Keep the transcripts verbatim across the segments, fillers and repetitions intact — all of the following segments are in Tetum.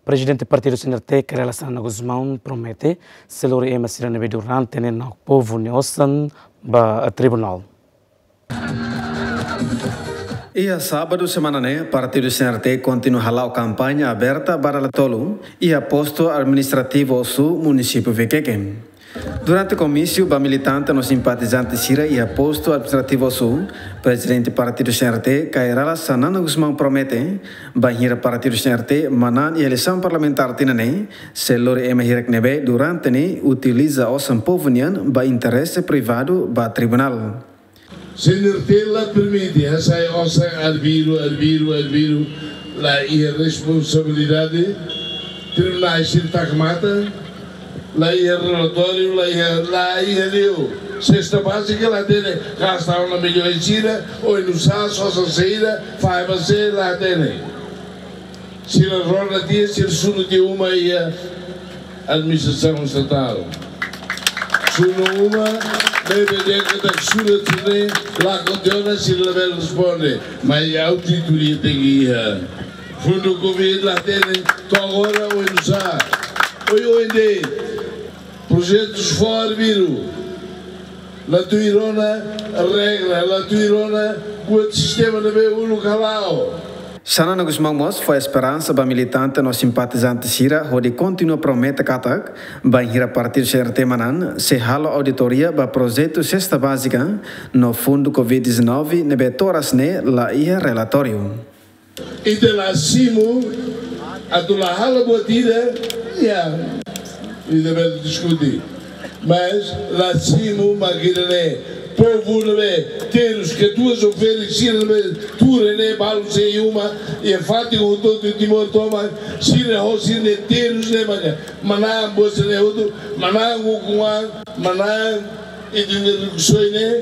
Prezidente Partidu C N R T, Kay Rala Xanana Gusmão, promete sei lori ema sira ne'ebé durante ne'e na'ok povu nia osan ba tribunál. Iha sábadu semana ne'e, Partidu C N R T kontinua hala'o kampaña aberta ba dala tolu iha Postu Administrativu Ossu, Munisípiu Viqueque. Durante komísiu ba militante no simpatizante sira iha Postu Administrativu Ossu, Prezidente Partidu C N R T, Kay Rala Xanana Gusmão, promete, bainhira Partidu C N R T manán iha eleisaun parlamentár tinan ne'e, sei lori ema hirak ne'ebé durante ne'e utiliza osan povu nian ba interese privadu ba tribunál. C N R T la permite hasai osan arbiru, arbiru, arbiru, la iha responsabilidade, tribunál sira taka matan, la iha relatóriu, la iha, la iha liu. Sesta bázika la hatene, gasta ona milhões sira, oinsá, osan saida, faiba se la hatene. Sira rona tiha, sira sunu tiha uma iha administrasaun estatál. Sunu uma, maibé dehan katak sunu tiha ne'e la kontena, sira labele responde, mas auditoria tenke iha. Fundu Covid la hatene, to'o agora oinsá. Oioin de'it, projetus fó arbiru. La tuir ona regra, la tuir ona buat sistema ne'ebé uluk hala'o. Xanana Gusmão mós fó esperansa ba militante no simpatizante sira hodi kontinua promete katak, bainhira Partidu C N R T manán, sei halo auditoria ba projetu sesta bázika no fundu Covid dezanove ne'ebé to'o oras ne'e la iha relatóriu. Ita la simu, atu la halo buat ida, ya, ita bele diskute. Mas la simu mak ida-ne'e, povu ne'ebé terus, katuas ou ferik sira ne'ebé tuur ne'e balu sei uma, iha fatin hotu-hotu Timor tomak, sira ho sira-nia terus ne'e maka manán buat sira-ne'e hotu, manán ukun-an, manán ita-nia rikusoin ne'e,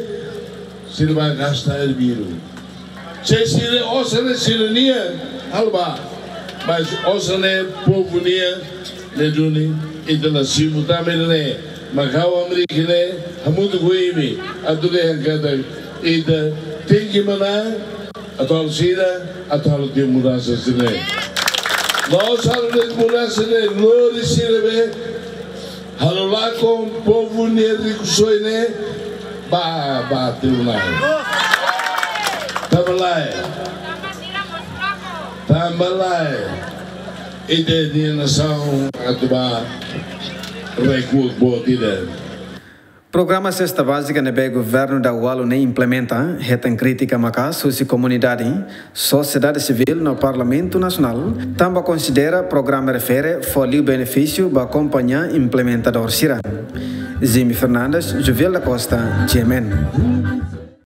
sira bá gasta arbiru. Se sira osan ne'e sira-nian, halo bá. Mas osan ne'e povu nian, ne'e duni, ita la simu tanba ne'e. Mak ha'u hamriik ne'e, hamutuk ho imi, atu dehan katak, ita tenke manán, atu halo saida, atu halo tiha mudansa sira-ne'e. La'ós halo de'it mudansa ne'e, lori sira be, halo lakon povu nia rikusoin ne'e ba, ba tribunál. Tanba lae. Tanba lae. Ita-nia nasaun atu ba rekuak boot ida. Programa sesta bázika ne'ebé governu daudaun ne'e implementa, hetan krítika maka'as husi komunidade, sosiedade sivíl no Parlamentu Nasionál, tanba konsidera programa refere fó liu benefísiu ba kompañia implementadór sira. Jimmy Fernandes, Joviel da Costa, G M N.